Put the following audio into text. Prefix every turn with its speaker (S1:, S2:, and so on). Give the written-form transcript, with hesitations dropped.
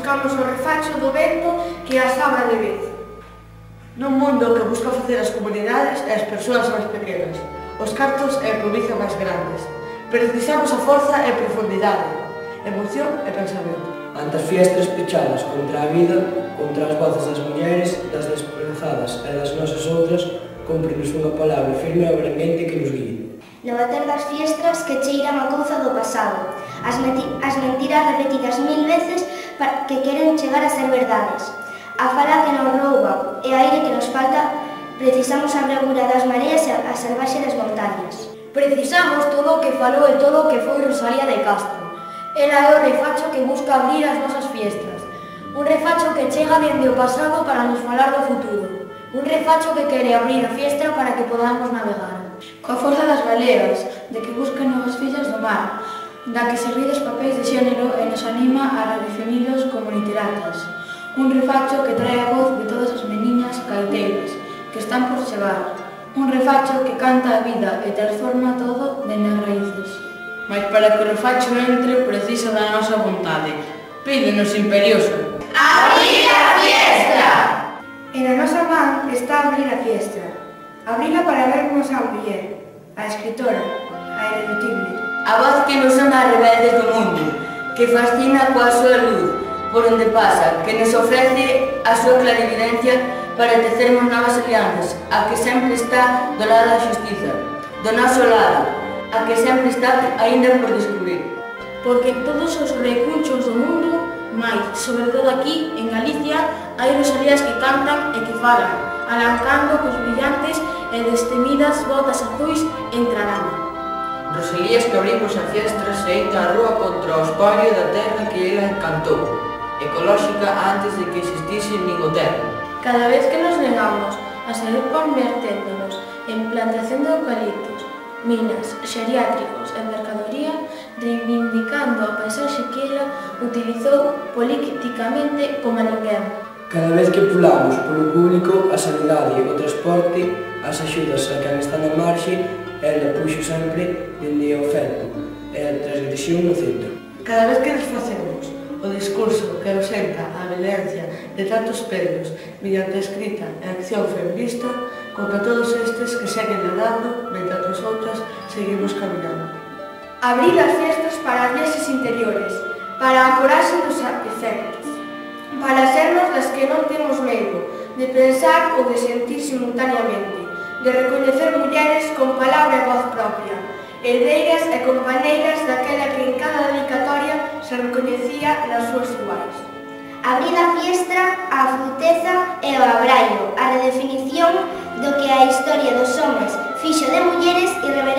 S1: buscamos o refacho do vento que a sabra de vez.
S2: Nun mundo que busca facer as comunidades e as persoas máis pequenas, os cartos e a provincia máis grandes, precisamos a forza e profundidade, emoción e pensamento.
S3: Ante as fiestras pechadas contra a vida, contra as voces das mulleres, das desprezadas e das nosas outras, cúmprenos unha palabra firme e abranguente que nos guíe.
S4: No bater das fiestras que cheiran a couza do pasado, as mentiras repetidas 1000 veces que queren chegar a ser verdades, a fala que nos rouba e a aire que nos falta, precisamos a bravura das mareas e a salvaxe das montañas.
S1: Precisamos todo o que falou e todo o que foi Rosalía de Castro. Ela é o refacho que busca abrir as nosas fiestras. Un refacho que chega dende o pasado para nos falar do futuro. Un refacho que quere abrir a fiestra para que podamos navegar.
S5: Coa forza das galegas, de que buscan novas fillas do mar, da que se ríe dos papéis de xénero e nos anima a redefinilos como literatas. Un refacho que trae a voz de todas as meniñas caeteiras que están por chegar. Un refacho que canta a vida e transforma todo dende as raíces.
S6: Mas para que o refacho entre precisa da nosa vontade. Pídenos imperioso.
S1: ¡Abrir a fiestra!
S5: E na nosa man está abrir a fiestra. Abrila para vernos a muller, a escritora, a irrepetible.
S6: A voz que nos sona a rebeldes do mundo, que fascina coa súa luz, por onde pasa, que nos ofrece a súa clarividencia para tecermos novas alianzas, a que sempre está do lado da xustiza, do noso lado, a que sempre está aínda por descubrir.
S1: Porque en todos os recunchos do mundo, mais, sobre todo aquí, en Galicia, hai rosalías que cantan e que falan, alancando cos brillantes e destemidas botas azuis entrarán.
S6: Rosalías que abrimos a fiestra saída á rúa contra o espolio da terra que ela encantou, ecolóxica antes de que existise nin o terra.
S1: Cada vez que nos negamos a seguir converténdonos en plantación de eucaliptos, minas, xeriátricos e mercadoría, reivindicando a paisaxe que ela utilizou políticamente como a ninguén.
S3: Cada vez que pulamos polo público, a sanidade, o transporte, as axudas a quen está na marxe, ela puxo sempre dende o feto e a transgresión no centro.
S2: Cada vez que nos facemos o discurso que ausenta a violencia de tantos pelos mediante a escrita e a acción feminista, contra todos estes que seguen nadando mentre nosotras seguimos caminando.
S5: Abrir as fiestas para as viaxes interiores, para a coragem dos efectos, para sernos das que non temos medo de pensar ou de sentir simultaneamente, de recoñecer mulleres con palabra e voz propia, herdeiras e compañeiras daquela que en cada dedicatoria se recoñecía nas súas iguais.
S4: Abrir a fiestra, a fruteza e o abraio, a redefinición do que a historia dos homes fixo de mulleres irreversibles